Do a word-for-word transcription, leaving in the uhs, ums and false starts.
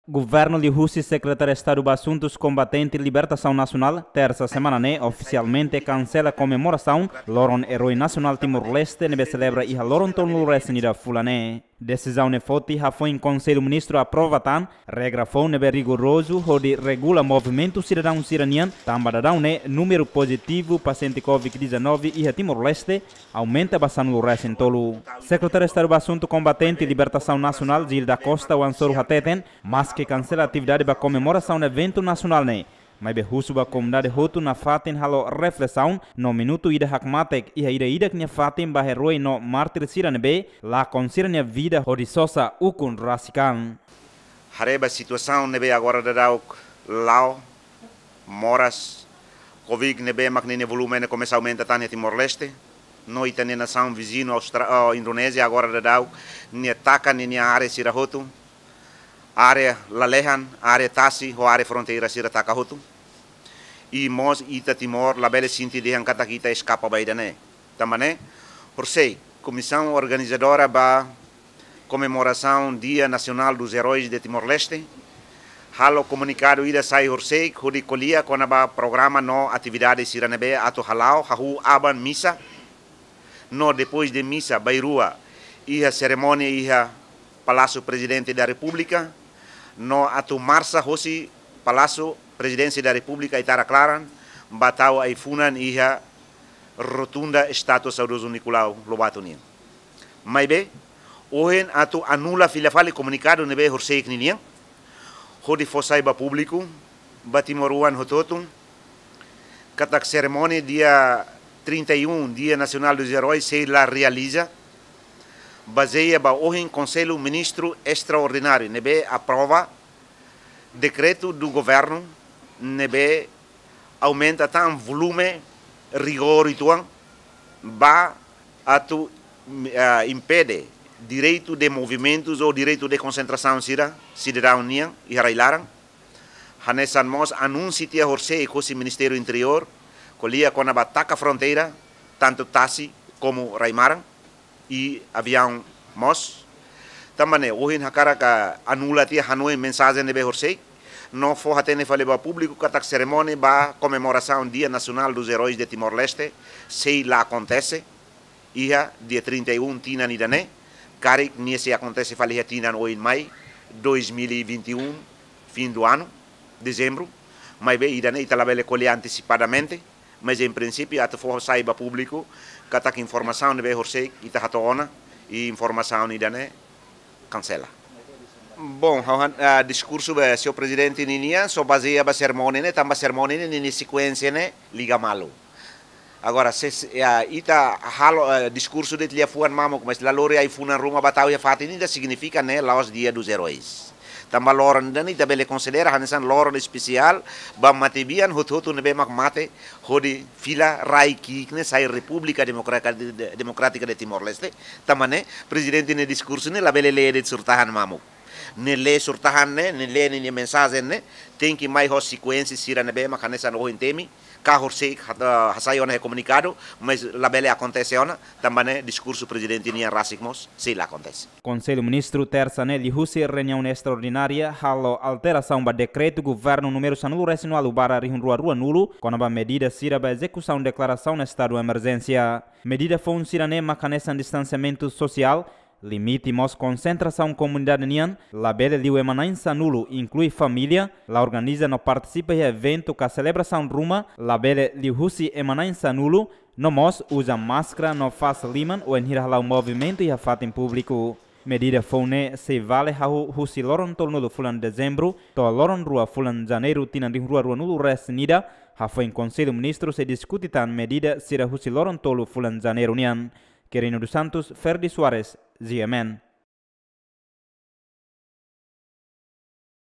Governu liuhusi Sekretáriu Estadu ba Asuntus Kombatente Libertasaun Nasionál, tersa semana ne'e ofisialmente kansela komemorasaun Loron Eroi Nasionál Timor-Leste ne'ebé selebra iha loron tolunulu-resin-ida fulan ne'e. Desizaun ne'e foti hafoin Konsellu Ministru aprova tan regra foun ne'ebé rigorozu hodi regula movimentu sidadaun sira-nian, tanba daudaun ne'e númeru pozitivu pasiente Covid dezanove iha Timor-Leste aumenta ba sanulu-resin-tolu. Sekretáriu Estadu ba Asuntu Kombatente Libertasaun Nasionál, Gil da Costa, oan soru hateten, maske kansela atividade ba komemorasaun eventu nasionál ne'e, maibé husu ba komunidade hotu nafatin halo reflesaun no minutu ida hakmatek iha ida-idak nia fatin ba eroi no mártir sira ne'ebé lakon sira-nia vida hodi sosa ukun rasik an. Haree ba situasaun ne'ebé agora daudaun la'o moras Covid ne'ebé mak ninia volume ne'e komesa aumenta tan iha Timor-Leste, no ita-nia nasaun viziñu Austra-, oh, Indonézia agora daudaun nia taka ninia área sira hotu, área lalehan, área tasi, ho área fronteira sira taka hotu. I mós ita Timor labele sente dehan katak ita eskapa ba ida-ne'e. Tanba ne'e, horisehik, Komisaun Organizadora ba Komemorasaun Dia Nacional dos Heróis de Timor-Leste halo komunikadu ida sai horisehik hodi ko'alia kona-ba programa no atividade sira ne'ebé atu hala'o, hahú aban misa, no depois de misa bainrua iha serimónia iha Palácio Presidente da República, no atu marsa hosi Palácio Presidência da República, Itara Klaran, ba tau ai-funan iha Rotunda Estátua Saudoso Nicolau Lobato nian. Maibé, ohin atu anula fila fali komunikadu ne'ebé horisehik ninian, hodi fó sai ba públiku, ba timoroan hotu-hotu, katak serimónia dia trinta e um, Dia Nacional dos Heróis, sei la realiza, bazeia ba ohin Konsellu Ministru Estraordináriu ne'ebé aprova dekretu do governu ne'ebé aumenta tan volume rigór uitoan ba atu, ah, impede direitu de movimentus ou direitu de konsentrasaun sira sidadaun nian iha rai-laran. Hanesan mós anúnsiu tiha horisehik hosi Ministériu Interiór, ko'alia kona-ba taka fronteira, tantu tasi komu rai-maran, i aviaun mós. Tanba ne'e, ohin hakarak anula tiha hanoin mensajen ne'ebé horisehik, no fó hatene fali ba públiku katak serimónia ba komemorasaun Dia Nacional dos Heróis de Timor-Leste sei la akontese iha dia trinta e um tinan ida-ne'e, karik nia sei akontese fali iha tinan oin mai, dois mil e vinte e um, fim do ano, dezembro. Maibé ida-ne'e ita labele ko'alia antesipadamente, mas em princípio atu fó sai ba públiku katak informasaun ne'ebé horisehik ita hato'o ona, i informasaun ida-ne'e kansela. Bom, ha'u han-, ah, diskursu ba señór Prezidente ninian só bazeia ba serimónia ne'e, tanba serimónia ne'e ninia sekuénsia ne'e liga malu. Agora, se, se, ah, ita halo, ah, diskursu de'it liafuan mamuk, mas la lori ai-funan ruma ba tau iha fatin ida, signifika ne'e la'ós Dia dos Heróis. Tanba loron ida-ne'e ita bele konsidera hanesan loron espesiál ba matebian hotu-hotu ne'ebé mak mate hodi fila rai ki'ik ne'e sai República Democrática de, de, Democrática de Timor-Leste. Tanba ne'e, Prezidente nia diskursu ne'e labele lee de'it surtahan mamuk. Nia lee surtahan ne'e, nia lee ninia mensajen ne'e, tenke mai ho sekuénsia sira ne'ebé mak hanesan ohin temi, ka horisehik hat-, ah, hasai ona iha komunikadu, mas labele akontese ona, tanba ne'e diskursu Prezidente nian rasik mós sei la akontese. Konsellu Ministru tersa ne'e liuhusi reuniaun estraordinária halo alterasaun ba dekretu governu númeru sanulu-resin-ualu barra rihun rua ruanulu, kona-ba medida sira ba ezekusaun deklarasaun estadu emerjénsia. Medida foun sira-ne'e mak hanesan distansiamentu sosiál, limite mós konsentrasaun komunidade nian, labele liu ema na'in-sanulu, inklui família, la organiza no partisipa iha eventu ka selebrasaun ruma, labele liuhusi ema na'in-sanulu, no mós uza máskara no fase liman wainhira hala'o movimentu iha fatin públiku. Medida foun ne'e sei vale hahú husi loron tolunulu fulan dezembru to'o loron rua fulan janeiru tinan rihun rua ruanulu-resin-ida, hafoin Konsellu Ministru sei diskute tan medida sira husi loron tolu fulan janeiru nian. Quirino dos Santos, Ferdi Soares, G M N.